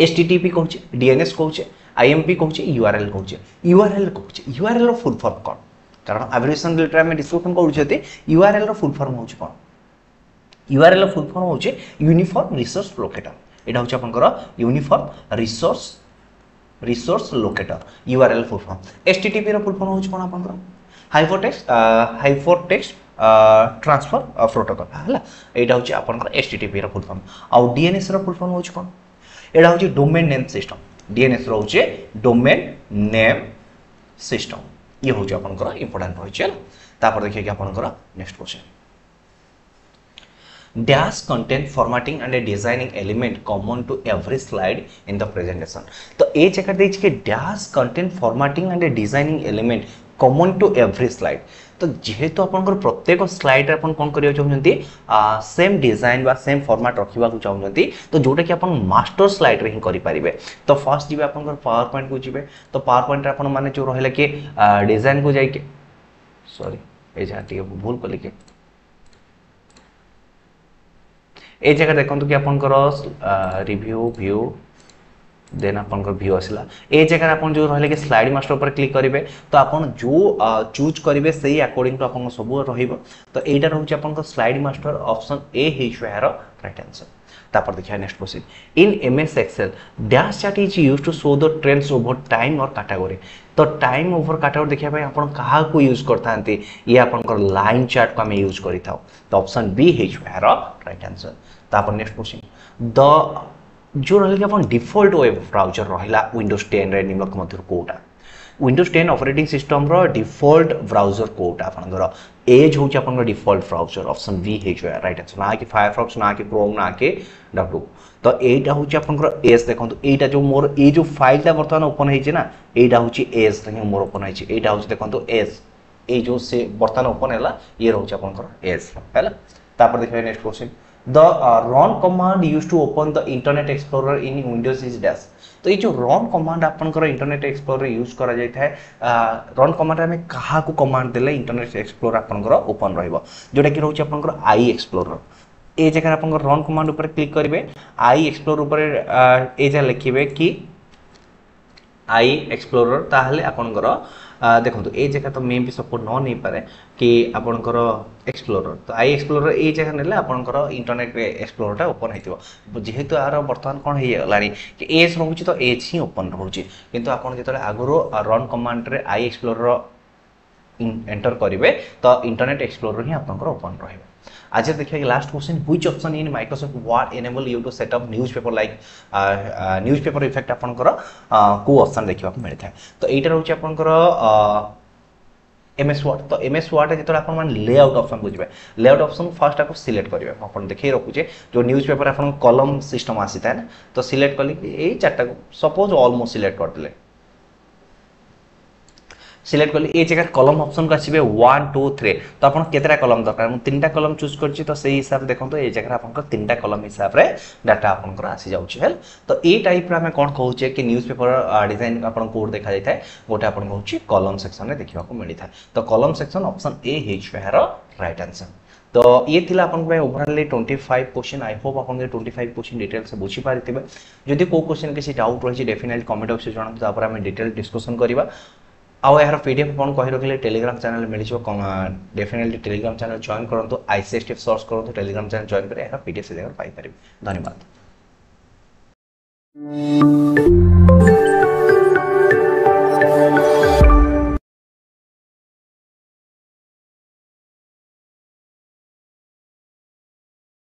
A: ଏଚ୍ ଟି ଟି ପି କହୁଛେ, ଡିଏନ୍ଏସ୍ କହୁଛେ, ଆଇଏମ୍ପି କହୁଛେ, ୟୁଆର୍ଏଲ୍ କହୁଛେ। ୟୁଆର୍ଏଲ୍ କହୁଛେ। ୟୁଆର୍ଏଲ୍ର ଫୁଲ୍ ଫର୍ମ କ'ଣ? କାରଣ ଆବ୍ରିଭିଏସନ୍ ରିଲେଟେଡ୍ ଆମେ ଡିସ୍କସନ୍ କରୁଛନ୍ତି। ୟୁଆର୍ଏଲ୍ର ଫୁଲ୍ ଫର୍ମ ହେଉଛି କ'ଣ? ୟୁଆର୍ଏଲ୍ର ଫୁଲ୍ ଫର୍ମ ହେଉଛି ୟୁନିଫର୍ମ ରିସୋର୍ସ ଲୋକେଟର। ଏଇଟା ହେଉଛି ଆପଣଙ୍କର uniform resource resource locator, U R L full form. H T T ପିର ଫୁଲ୍ ଫର୍ମ ହେଉଛି କ'ଣ ଆପଣଙ୍କର? Hyper text hyper text transfer protocol, ହେଲା। ଏଇଟା ହେଉଛି ଆପଣଙ୍କର ଏଚ୍ ଟି ଟି ପିର ଫୁଲ୍ ଫର୍ମ। ଆଉ ଡିଏନ୍ଏସ୍ର ଫୁଲ୍ ଫର୍ମ ହେଉଛି କ'ଣ? ଏଇଟା ହେଉଛି ଡୋମେନ୍ ନେମ୍ ସିଷ୍ଟମ୍। ଡିଏନ୍ଏସ୍ ରହୁଛି ଡୋମେନ୍ ନେମ୍ ସିଷ୍ଟମ୍। ଇଏ ହେଉଛି ଆପଣଙ୍କର ଇମ୍ପୋର୍ଟାଣ୍ଟ ରହିଛି, ହେଲା। ତାପରେ ଦେଖିବା କି ଆପଣଙ୍କର next question, dash content formatting and a designing element common to every slide in the presentation. ତ ଏ ଜାଗାରେ ଦେଇଛି କି dash content formatting and a designing element common to every slide. ତ ଯେହେତୁ ଆପଣଙ୍କର ପ୍ରତ୍ୟେକ ସ୍ଲାଇଡ୍ରେ ଆପଣ କ'ଣ କରିବାକୁ ଚାହୁଁଛନ୍ତି? ସେମ୍ ଡିଜାଇନ୍ ବା ସେମ୍ ଫର୍ମାଟ୍ ରଖିବାକୁ ଚାହୁଁଛନ୍ତି, ତ ଯେଉଁଟାକି ଆପଣ ମାଷ୍ଟର ସ୍ଲାଇଡ୍ରେ ହିଁ କରିପାରିବେ। ତ ଫାର୍ଷ୍ଟ ଯିବେ ଆପଣଙ୍କର ପାୱାର ପଏଣ୍ଟକୁ ଯିବେ। ତ ପାୱାର ପଏଣ୍ଟରେ ଆପଣ ମାନେ ଯେଉଁ ରହିଲା କି ଡିଜାଇନ୍କୁ ଯାଇକି, ସରି, ଏ ଜାଗା ଟିକେ ଭୁଲ କଲି କି ଏଇ ଜାଗାରେ ଦେଖନ୍ତୁ କି ଆପଣଙ୍କର ରିଭ୍ୟୁ, ଭ୍ୟୁ, ଦେନ୍ ଆପଣଙ୍କର ଭ୍ୟୁ ଆସିଲା। ଏଇ ଜାଗାରେ ଆପଣ ଯେଉଁ ରହିଲେ କି ସ୍ଲାଇଡ୍ ମାଷ୍ଟର ଉପରେ କ୍ଲିକ୍ କରିବେ, ତ ଆପଣ ଯେଉଁ ଚୁଜ୍ କରିବେ ସେଇ ଆକର୍ଡିଂ ଟୁ ଆପଣଙ୍କ ସବୁ ରହିବ। ତ ଏଇଟା ରହୁଛି ଆପଣଙ୍କ ସ୍ଲାଇଡ୍ ମାଷ୍ଟର, ଅପସନ୍ ଏ ହେଇଯିବ ଏହାର ରାଇଟ୍ ଆନ୍ସର। ତାପରେ ଦେଖିବା next question, in M S Excel dash chart is used to show the trends over time or category. ତ ଟାଇମ୍ ଓଭର କାଟାଗୋରୀ ଦେଖିବା ପାଇଁ ଆପଣ କାହାକୁ ୟୁଜ୍ କରିଥାନ୍ତି? ଇଏ ଆପଣଙ୍କର ଲାଇନ୍ ଚାର୍ଟକୁ ଆମେ ୟୁଜ୍ କରିଥାଉ। ତ ଅପସନ୍ ବି ହେଇଯିବ ଏହାର ରାଇଟ୍ ଆନ୍ସର। ତାପରେ next question, the ଯେଉଁ ରହିଲା କି ଆପଣ ଡିଫଲ୍ଟ ୱେବ୍ ବ୍ରାଉଜର ରହିଲା ୱିଣ୍ଡୋଜ୍ ଟେନ୍ରେ ନିମ୍ନଲିଖିତ ମଧ୍ୟରୁ କେଉଁଟା ୱିଣ୍ଡୋଜ୍ ଟେନ୍ ଅପରେଟିଂ ସିଷ୍ଟମ୍ର ଡିଫଲ୍ଟ ବ୍ରାଉଜର କେଉଁଟା ଆପଣଙ୍କର ଏଜ୍ ହେଉଛି ଆପଣଙ୍କର ଡିଫଲ୍ଟ ବ୍ରାଉଜର ଅପସନ୍ ବି ହେଇଯିବ ରାଇଟ୍ ଆନ୍ସର ନା କି ଫାୟାରଫକ୍ସ ନା କି କ୍ରୋମ୍ ନା କି ଡବ୍ଲୁ ତ ଏଇଟା ହେଉଛି ଆପଣଙ୍କର ଏଜ୍ ଦେଖନ୍ତୁ ଏଇଟା ଯେଉଁ ମୋର ଏଇ ଯେଉଁ ଫାଇଲଟା ବର୍ତ୍ତମାନ ଓପନ୍ ହେଇଛି ନା ଏଇଟା ହେଉଛି ଏଜ୍ ହିଁ ମୋର ଓପନ୍ ହେଇଛି ଏଇଟା ହେଉଛି ଦେଖନ୍ତୁ ଏଜ୍ ଏଇ ଯେଉଁ ସେ ବର୍ତ୍ତମାନ ଓପନ୍ ହେଲା ଇଏ ରହୁଛି ଆପଣଙ୍କର ଏଜ୍ ହେଲା ତାପରେ ଦେଖିବା next question the run command used to open the Internet Explorer in Windows is dash ତ ଏଇ ଯେଉଁ ରନ୍ କମାଣ୍ଡ ଆପଣଙ୍କର ଇଣ୍ଟରନେଟ୍ ଏକ୍ସପ୍ଲୋରର ୟୁଜ୍ କରାଯାଇଥାଏ ରନ୍ କମାଣ୍ଡ ଆମେ କାହାକୁ କମାଣ୍ଡ ଦେଲେ ଇଣ୍ଟରନେଟ୍ ଏକ୍ସପ୍ଲୋରର ଆପଣଙ୍କର ଓପନ୍ ରହିବ ଯେଉଁଟାକି ରହୁଛି ଆପଣଙ୍କର I explore ଏ ଜାଗାରେ ଆପଣଙ୍କର ରନ୍ କମାଣ୍ଡ ଉପରେ କ୍ଲିକ୍ କରିବେ I explore ଉପରେ ଏ ଜାଗା ଲେଖିବେ କି I explore ତାହେଲେ ଆପଣଙ୍କର ଦେଖନ୍ତୁ ଏଇ ଜାଗା ତ ମେ ବି ସପୋର୍ଟ ନ ନେଇପାରେ କି ଆପଣଙ୍କର ଏକ୍ସପ୍ଲୋରର ତ I explore ଏଇ ଜାଗା ନେଲେ ଆପଣଙ୍କର ଇଣ୍ଟରନେଟ୍ ଏକ୍ସପ୍ଲୋରରଟା ଓପନ୍ ହେଇଥିବ ଯେହେତୁ ଏହାର ବର୍ତ୍ତମାନ କ'ଣ ହେଇଗଲାଣି କି ଏଜ୍ ରହୁଛି ତ ଏଜ୍ ହିଁ ଓପନ୍ ରହୁଛି କିନ୍ତୁ ଆପଣ ଯେତେବେଳେ ଆଗରୁ ରନ୍ କମାଣ୍ଡରେ I explore enter କରିବେ ତ ଇଣ୍ଟରନେଟ୍ ଏକ୍ସପ୍ଲୋରର ହିଁ ଆପଣଙ୍କର ଓପନ୍ ରହିବ ଆଜି ଦେଖିବା କି last question which option in Microsoft Word enable you to set up newspaper like newspaper effect ଆପଣଙ୍କର କେଉଁ ଅପସନ୍ ଦେଖିବାକୁ ମିଳିଥାଏ ତ ଏଇଟା ରହୁଛି ଆପଣଙ୍କର ଏମ୍ ଏସ୍ ୱାର୍ଡ଼ ତ ଏମ୍ ଏସ୍ ୱାର୍ଡ଼ରେ ଯେତେବେଳେ ଆପଣମାନେ ଲେଆଉଟ୍ ଅପସନ୍ ବୁଝିବେ ଲେଆଉଟ୍ ଅପସନ୍ ଫାର୍ଷ୍ଟ ଆକୁ ସିଲେକ୍ଟ କରିବେ ମୁଁ ଆପଣ ଦେଖେଇ ରଖୁଛେ ଯେଉଁ ନ୍ୟୁଜ୍ ପେପର ଆପଣଙ୍କ କଲମ୍ ସିଷ୍ଟମ୍ ଆସିଥାଏ ନା ତ ସିଲେକ୍ଟ କଲି ଏଇ ଚାରିଟାକୁ ସପୋଜ୍ ଅଲ୍ ମୁଁ ସିଲେକ୍ଟ କରିଦେଲେ ସିଲେକ୍ଟ କଲି ଏଇ ଜାଗାରେ କଲମ୍ ଅପସନ୍କୁ ଆସିବେ ୱାନ୍ ଟୁ ଥ୍ରୀ ତ ଆପଣ କେତେଟା କଲମ୍ ଦରକାର ମୁଁ ତିନିଟା କଲମ୍ ଚୁଜ୍ କରିଛି ତ ସେଇ ହିସାବରେ ଦେଖନ୍ତୁ ଏଇ ଜାଗାରେ ଆପଣଙ୍କର ତିନିଟା କଲମ୍ ହିସାବରେ ଡାଟା ଆପଣଙ୍କର ଆସିଯାଉଛି ହେଲା ତ ଏଇ ଟାଇପ୍ର ଆମେ କ'ଣ କହୁଛେ କି ନ୍ୟୁଜ୍ ପେପର ଡିଜାଇନ୍ ଆପଣ କେଉଁଠି ଦେଖାଯାଇଥାଏ ଗୋଟେ ଆପଣଙ୍କୁ ହେଉଛି କଲମ୍ ସେକ୍ସନରେ ଦେଖିବାକୁ ମିଳିଥାଏ ତ କଲମ୍ ସେକ୍ସନ୍ ଅପସନ୍ ଏ ହେଇଯିବ ଏହାର ରାଇଟ୍ ଆନ୍ସର୍ ତ ଇଏ ଥିଲା ଆପଣଙ୍କ ପାଇଁ overally twenty five question I hope ଆପଣ ଟ୍ୱେଣ୍ଟି ଫାଇଭ୍ କ୍ୱେଶ୍ଚିନ୍ ଡିଟେଲ୍ସ ବୁଝିପାରିଥିବେ ଯଦି କେଉଁ କ୍ୱେଶ୍ଚିନ୍ କିଛି ଡାଉଟ୍ ରହିଛି ଡେଫିନେଟଲି କମେଣ୍ଟ ବକ୍ସରେ ଜଣାନ୍ତୁ ତାପରେ ଆମେ ଡିଟେଲ୍ ଡିସ୍କସନ୍ କରିବା ଆଉ ଏହାର ପି ଡି ଏଫ୍ ଆପଣ କହି ରଖିଲେ ଟେଲିଗ୍ରାମ ଚ୍ୟାନେଲ୍ ମିଳିଯିବ ଡେଫିନେଟଲି ଟେଲିଗ୍ରାମ ଚ୍ୟାନେଲ୍ ଜଏନ୍ କରନ୍ତୁ I C S T search କରନ୍ତୁ ଟେଲିଗ୍ରାମ ଚ୍ୟାନେଲ୍ ଜଏନ୍ କରି ଏହାର ପି ଡି ଏଫ୍ ସେ ଜାଗାରେ ପାଇପାରିବେ ଧନ୍ୟବାଦ